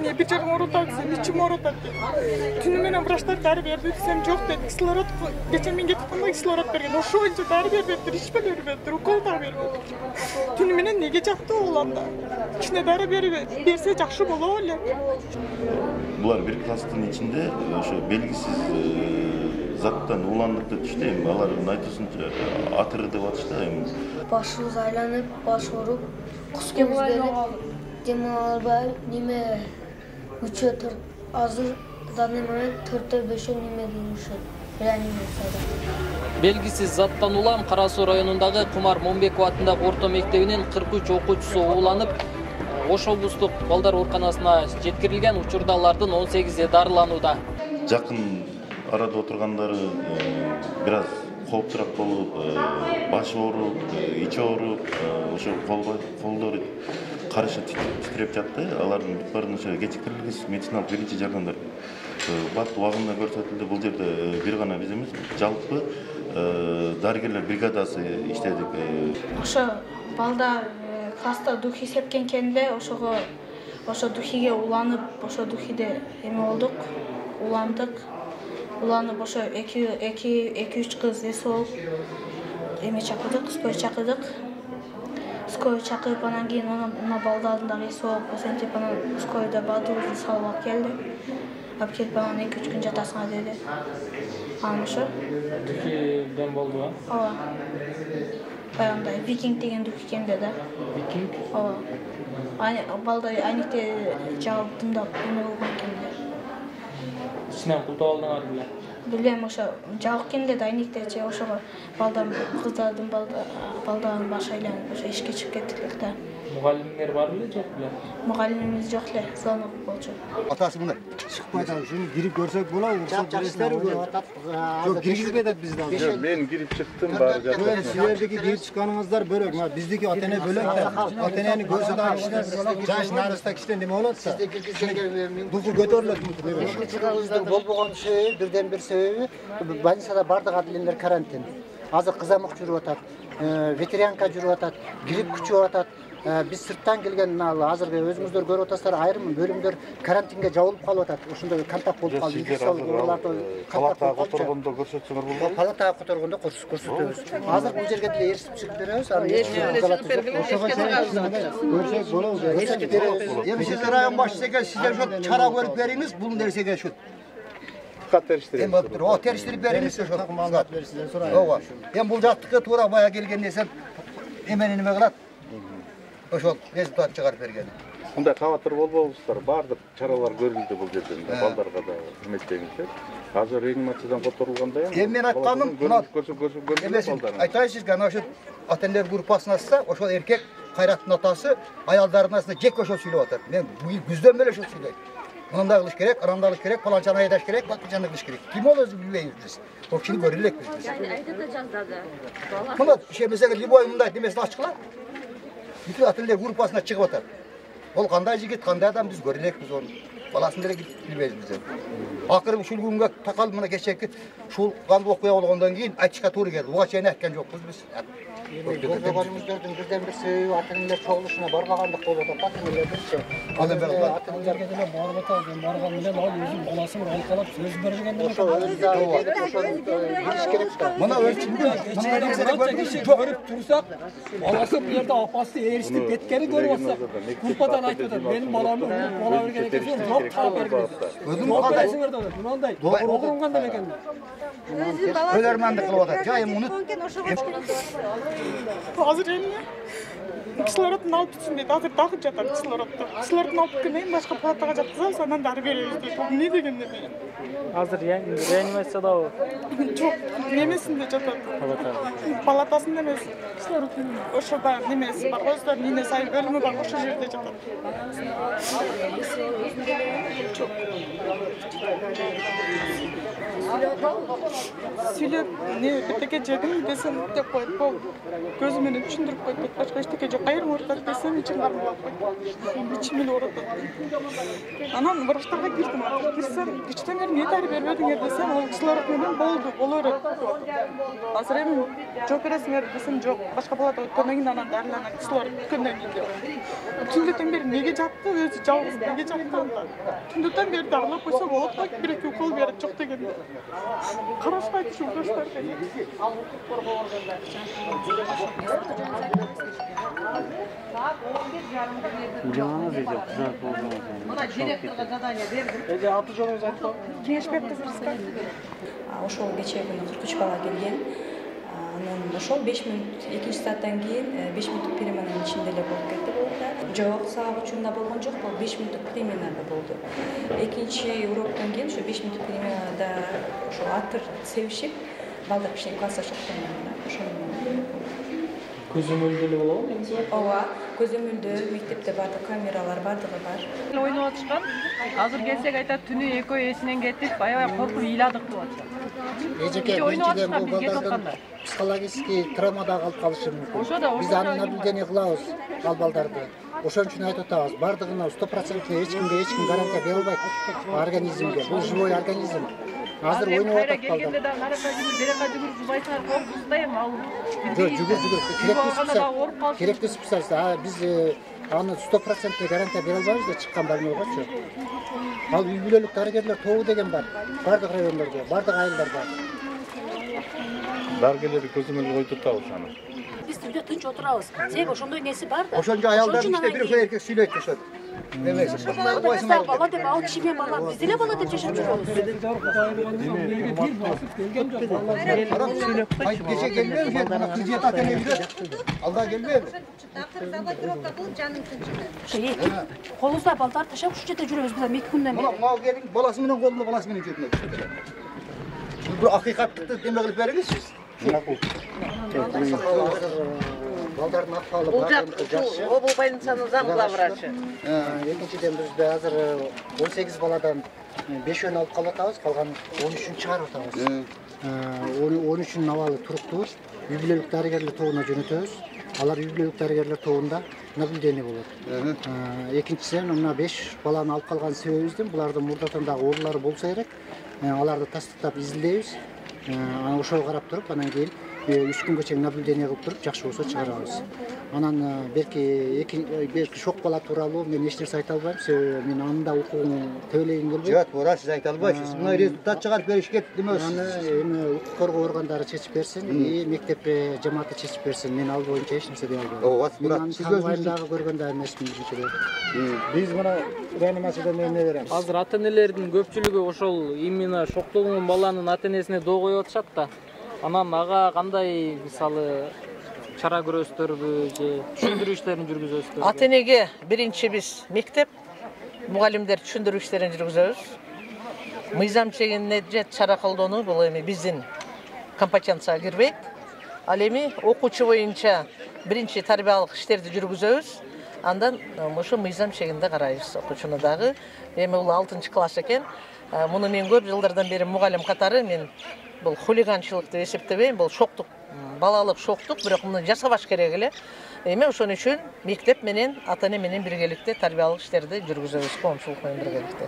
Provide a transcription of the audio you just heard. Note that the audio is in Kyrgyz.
эмне бир жагың ооруп атат, ичим ооруп атат. Түнү менен врачтар дары берди десем жок деди. Кислород кечээ мен кетип калганда кислород берген. Ошо боюнча дары бербептир, ичпе бербептир, укол да бербептир. Түнү менен неге жакты улам да? Кичине дары берсе жакшы болот эле. Булар бир класстын ичинде ошо белгисиз заттан уланып деп түштү. Эми алардын айтуусунча атыры деп атышты. Эми башыбыз айланып, баш ооруп, кускубуз келип, дем ала албай, неме 3-4 азыр данный момент 4-5 неме дейишет. Реанимацияда. Белгисиз заттан улам Кара Суу районундагы Кумар Момбеков атындагы орто мектебинин 43 окуучусу ууланып, Ош облустук балдар ооруканасына жеткирилген. Учурда алардын 18 дарыланууда. Жакын арада отургандары бир аз кооптураак болуп, баш ооруп, ичи ооруп, ошо колдору карышы титиреп жатты. Алардын бүт баарын ошо кечиктерилгис медициналык биринчи жардамдар бат убагында көрсөтүлдү. Бул жерде бир гана биз эмес, жалпы дарыгерлер бригадасы иштедик. Ошо балдар класста духи сепкенкен эле, ошо духиге уланып, ошо духиде эме болдук, уландык. Уланып ошо 2-3 кыз эс болуп эме чакырдык, скорый чакырдык. Скорый чакырып, анан кийин мына балдардын дагы эси болуп, ошентип анан скорыйда баардыгыбызды салып алып келди. Алып келип анан 2-3 күн жатасыңар деди. Анан ошо Духиден болду, а? Ооба. Баягындай викинг деген дух экенде да. Викинг? Ооба. Балдар айникте жабып тымдап эме болгон экенде. Ичинен култап алдыңар беле? Билем, ошо жабык экенде да айниктечи, ошого кыздардын балдардын башы айланып ошо эшикке чыгып кеттик да. Мугалимдер бар беле, жок беле? Мугалимибиз жок эле, звонок болчу. Атасы мына чыкпай атат, ушуну кирип көрсөк болобу? Жок, киргизбей атат бизди. Жок, мен кирип чыктым, баары жатат. Силердики кирип чыкканыңыздар бөлөк, мына биздики ата-эне бөлөк да. Ата-энени көрсө дагы кичине жаш нарыста кичине неме болот да. Сизде киргизгенге духу көтөрүлөт. чыгарыңыздар болбогон себеби, бирден бир себеби, больницада бардык адилендер карантин. Азыр кызамык жүрүп атат, ветеринарка жүрүп атат, грипп күчүп атат. Биз сырттан келген азыркы өзүңүздөр көрүп атасыздар, айрым бөлүмдөр карантинге жабылып калып атат. Ошондой контакт болуп калды. Палатага которгондо көрсөтсөңөр болбойбу? Палатага которгондо көрсөтөбүз. Азыр бул жерге деле эрсип чыгып беребиз. Көрсөк болобу? Эми сиздер район башчысыга сиздер ошо чара көрүп бериңиз, бул нерсеге ошо Териштирип. Эми териштирип бериңиз ошо. Маалымат берсиздер, сурайын. Ооба. Эми бул жактыкы туура бая келген нерсе эмени неме кылат? Ошол результат чыгарып берген. Мындай кабатыр болбобуздар, баардык чаралар көрүлдү бул жерден. Балдарга да эметпеңиздер. Азыр реанимациядан которулганда Эми мен айтканым, мына айтайын сизге, ана ошо ата-энелер группасына ачса, ошол эркек Кайраттын атасы аялдардын арасында жек ошол сүйлөп атат. Мен күздөн бери ошол сүйлөйм. Мындай кылыш керек, ырандай кылыш керек, паланчаны айдаш керек, бакчаны кылыш керек. Ким ол өзү билбейбиз биз. Ошол кишини көрө элекпиз биз. Айда да жаздады. Мына ишемесеге любой мындай демесин ачкыла. Бүт ата-энелер группасына чыгып атат. Ол кандай жигит, кандай адам биз көрө элекпиз оны. Баласын деле билбейбиз биз. Акыры ушул күнгө такалып мына кечээки ушул кандуу окуя болгондон кийин айтышка туура келди. Буга чейин айткан жокпуз биз. Көрбөгөнүмүздөрдүн бирден бир себеби ата-энелер чогулушуна барбагандык болуп атат. Ата-энелердинчи. Ата-энелерге деле барып атат, барган менен ал өзү баласын алкалап сөз берген. Ошо өзү билиш керек да. Мына өзү көрүп турсак, баласы бу жерде апасы эриштип кеткени көрүп атсак, группадан айтып атат, менин баламды бала берген экен, жок таап берген. Өзүм кандайсыңар да, мындай огорунган деле экен. Өлөрмандык кылып атат. Жайым унут. Азыр эмне? Кислородун алып түшүн дейт. Азыр дагы жатат кислородду. Кислородун алып келмейин, башка палатага жаткызабыз, анан дары беребиз дейт. Эмне дегенде мен? Азыр реанимациядабы? Жок, немесинде жатат. Палатасында эмес. Ошо баягы немеси бар, өздөрүнүн ине сайын бөлүмү бар, ошол жерде жатат. Сүйлөп, не бирдеке жедим десем деп коет. Бул көзү менен түшүндүрүп коет. Башка эчтеке жок. Кайрым оорутат десем ичим кармалап коет. Ичим эле оорутат. Анан врачтарга кирдим. Кирсем, ичтен бери эмне дару бербедиңер десем, ал кислород менен боло берет. Азыр эми жооп бересиңер десем, жок. Башка палата өткөндөн кийин анан дарыланат кислород өткөндөн кийин деп. Түндүтөн бери неге жатты? Өзү жалгыз неге жатты анда? Түндүтөн бери дарылап койсо болот да, бир-эки укол берет жок дегенде. Карашпайт ушу врачтар деген. Жаңаңыз эже кызат болгон. Мына директорго задание бердим. Эже аты жөнүңүздү айтып. Кеңеш бериптиз. Ошол кечээ күнү 43 бала келген. Анан ошол 5 мүнөт экинчи сааттан кийин 5 мүнөттүк переменанын ичинде эле болуп кетти булар. Жок, саат учунда болгон жок, бул 5 мүнөттүк переменада болду. Экинчи уроктон кийин ошо 5 мүнөттүк переменада ошо атыр себишип, балдар кичине класска чыкты. Ошону Көзөмөлдө эле болобу негизи? ооба, көзөмөлдө мектепте бардык камералар бардыгы бар. Ойноп атышкан. Азыр келсек айтат түнү экөө эсинен кетип, аябай коркуп ыйладык деп атышат. Эжеке, биринчиден бул балдардын психологический травмада калып калышы мүмкүн. Биз аны наблюдение кылабыз ал балдарды. Ошон үчүн айтып атабыз, бардыгына 100% эч ким гарантия бере албайт организмге. Бул живой организм. Азыр ойноп атат балдар. Келгенде да наракка жүгүрүп жубайсыңар, коркусуз да эми ал. Жүгүр. Керектүү специалист. Биз аны 100% гарантия бере албайбыз да чыккан больнойгочу. Ал үй бүлөлүк дарыгерлер тобу деген бар. Бардык райондордо, бардык айылдарда. Дарыгерлерди көзөмөлгө коюп турабыз аны. Биз үйдө тынч отурабыз. Себеби ошондой неси бар да. Ошончо аялдардын ичинде бир ошо эркек сүйлөйт ошо. Бала деп ал киши менен бала биз деле бала деп жашап жүрөбүз. Кече келбейби? Кыз жеп ата эне үйдө. Алда келбейби? Акыр забастировка кылып жанын тынчыды. Колубузда балдар ташап ушул жерде жүрөбүз биз 2 күндөн бери. Мына келин баласы менен колунда, баласы менен жетине түшүп. Бул акыйкатты эме кылып бериңизчи. Балдардын акыбалы жакшы. Обул больницанын зам главврачы. Экинчиден бизде азыр 18 баладан 5-өн алып калып атабыз, калган 13-үн чыгарып атабыз. 13-үнүн абалы туруктуу. Үй бүлөлүк дарыгерлер тобуна жөнөтөбүз. Алар үй бүлөлүк дарыгерлер тобунда наблюдение болот. Экинчиден мына 5 баланы алып калган себебибиздин булардын мурдатан дагы оорулары болсо керек. Аларды тастыктап изилдейбиз. Ошого карап туруп, анан кийин 3 күнгө чейин наблюдение кылып туруп, жакшы болсо чыгарабыз. Анан белки шок бала тууралуу мен эч нерсе айта албайм, себеби мен анда укугун төбөлөгүм келбейт. Жок, туура сиз айта албайсыз. Мына результат чыгарып беришке демөсүз. Аны эми укук коргоо органдары чечип берсин, мектеп жамааты чечип берсин. Мен ал боюнча эч нерсе дей албайм. Ооба, туура. Сиз өзүңүз дагы көргөн да эмесмин бизчилер. Биз мына реанимациядан эмне беребиз? Азыр ата-энелердин көпчүлүгү ошол именно шоктолгон баланын ата-энесине доо коюп атышат да. Анан ага кандай мисалы чара көрөсүздөрбү же түшүндүрүү иштерин жүргүзөсүздөр? Ата-энеге биринчи биз мектеп мугалимдер түшүндүрүү иштерин жүргүзөбүз. Мыйзам чегинде же чара колдонуу бул эми биздин компетенцияга кирбейт. Ал эми окуучу боюнча биринчи тарбиялык иштерди жүргүзөбүз. Андан ошо мыйзам чегинде карайбыз окуучуну дагы. Эми бул 6-класс экен. Муну мен көп жылдардан бери мугалим катары мен бул хулиганчылык деп эсептебейм, бул шоктук, балалык шоктук, бирок муну жасабаш керек эле. Эми ошон үчүн мектеп менен ата-эне менен биргеликте тарбиялык иштерди жүргүзөбүз, коомчулук менен биргеликте.